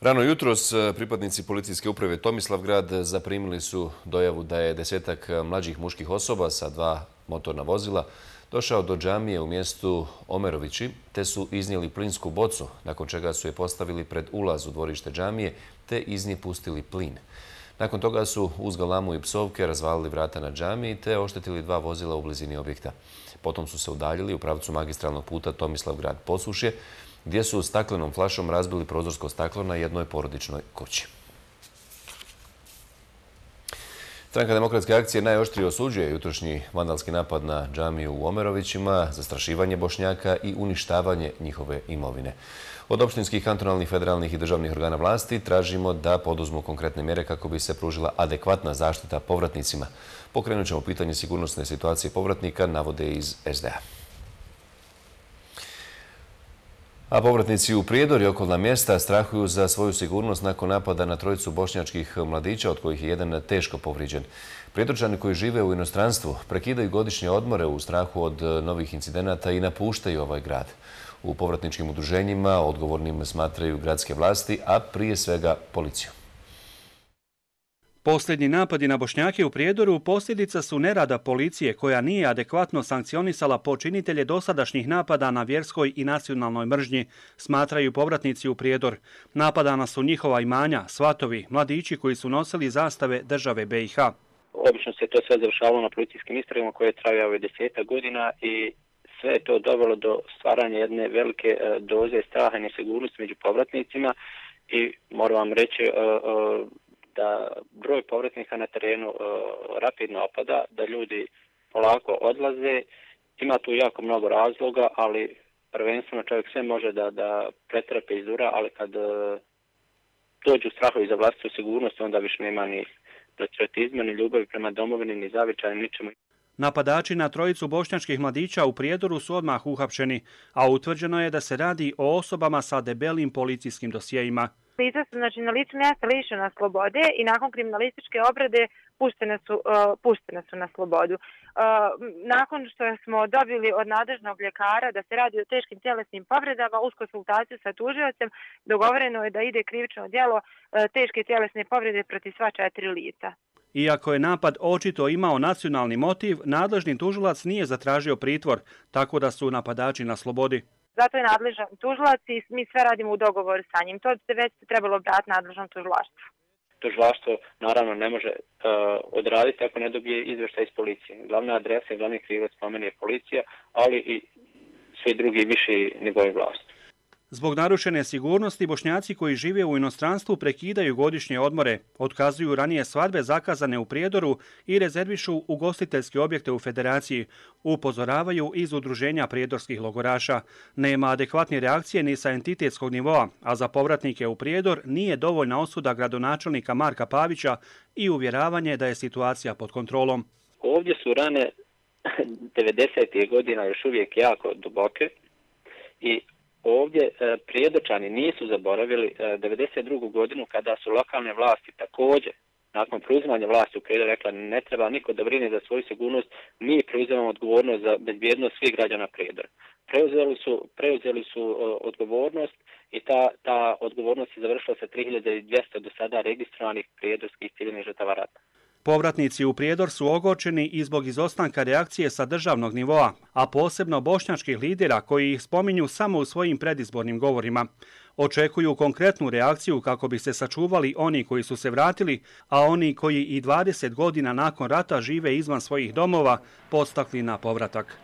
Rano jutros pripadnici policijske uprave Tomislavgrad zaprimili su dojavu da je 10-ak mlađih muških osoba sa 2 motorna vozila došao do džamije u mjestu Omerovići te su iznijeli plinsku bocu, nakon čega su je postavili pred ulaz u dvorište džamije te iz nje pustili plin. Nakon toga su uz galamu i psovke razvalili vrata na džamiji te oštetili 2 vozila u blizini objekta. Potom su se udaljili u pravcu magistralnog puta Tomislavgrad-Posušje, gdje su staklenom flašom razbili prozorsko staklo na jednoj porodičnoj kući. Stranka Demokratske akcije najoštrije osuđuje jutrošnji vandalski napad na džamiju u Omerovićima, zastrašivanje Bošnjaka i uništavanje njihove imovine. Od opštinskih, kantonalnih, federalnih i državnih organa vlasti tražimo da poduzmu konkretne mjere kako bi se pružila adekvatna zaštita povratnicima. Pokrenut ćemo pitanje sigurnosne situacije povratnika, navode iz SDA. A povratnici u Prijedor i okolna mjesta strahuju za svoju sigurnost nakon napada na 3 bošnjačkih mladića, od kojih je jedan teško povrijeđen. Prijedorčani koji žive u inostranstvu prekidaju godišnje odmore u strahu od novih incidenata i napuštaju ovaj grad. U povratničkim udruženjima odgovornim smatraju gradske vlasti, a prije svega policiju. Posljednji napadi na Bošnjake u Prijedoru posljedica su nerada policije koja nije adekvatno sankcionisala počinitelje dosadašnjih napada na vjerskoj i nacionalnoj mržnji, smatraju povratnici u Prijedor. Napadana su njihova imanja, svatovi, mladići koji su nosili zastave države BiH. Obično se to sve završavalo na policijskim istragama koje traju 10 godina i sve je to dovelo do stvaranja jedne velike doze straha i nesigurnosti među povratnicima i moram vam reći da broj povratnika na terenu rapidno opada, da ljudi polako odlaze. Ima tu jako mnogo razloga, ali prvenstveno čovjek sve može da pretrpe izdura, ali kad dođu strahovi za vlastitu sigurnost, onda više nema ni patriotizma, ni ljubavi prema domovini, ni zavičaju, ničemu. Napadači na 3 bošnjačkih mladića u Prijedoru su odmah uhapšeni, a utvrđeno je da se radi o osobama sa debelim policijskim dosjejima. Lica su na licu mjesta lišena slobode i nakon kriminalističke obrade puštene su na slobodu. Nakon što smo dobili od nadležnog ljekara da se radi o teškim tjelesnim povredama, uz konsultaciju sa tužiocem dogovoreno je da ide krivično djelo teške tjelesne povrede protiv sva 4 lica. Iako je napad očito imao nacionalni motiv, nadležni tužilac nije zatražio pritvor, tako da su napadači na slobodi. Zato je nadležan tužilac i mi sve radimo u dogovoru sa njim. To se već trebalo obratiti nadležnom tužilaštvu. Tužilaštvo naravno ne može odraditi ako ne dobije izvještaj iz policije. Glavna adresa i glavni krivac po meni je policija, ali i svi drugi viši nivoi vlasti. Zbog narušene sigurnosti, Bošnjaci koji žive u inostranstvu prekidaju godišnje odmore, otkazuju ranije svadbe zakazane u Prijedoru i rezervišu ugostiteljske objekte u Federaciji, upozoravaju iz udruženja prijedorskih logoraša. Nema adekvatne reakcije ni sa entitetskog nivoa, a za povratnike u Prijedor nije dovoljna osuda gradonačelnika Marka Pavića i uvjeravanje da je situacija pod kontrolom. Ovdje su rane 90. godina još uvijek jako duboke i ovdje Prijedočani nisu zaboravili 92. godinu kada su lokalne vlasti također nakon preuzimanja vlasti u Prijedoru rekla ne treba niko da brine za svoju sigurnost, mi preuzimamo odgovornost za bezbjednost svih građana Prijedora. Preuzeli su odgovornost i ta odgovornost je završila sa 3200 do sada registrovanih prijedorskih civilnih žrtava rata. Povratnici u Prijedor su ogorčeni i zbog izostanka reakcije sa državnog nivoa, a posebno bošnjačkih lidera koji ih spominju samo u svojim predizbornim govorima. Očekuju konkretnu reakciju kako bi se sačuvali oni koji su se vratili, a oni koji i 20 godina nakon rata žive izvan svojih domova podstakli na povratak.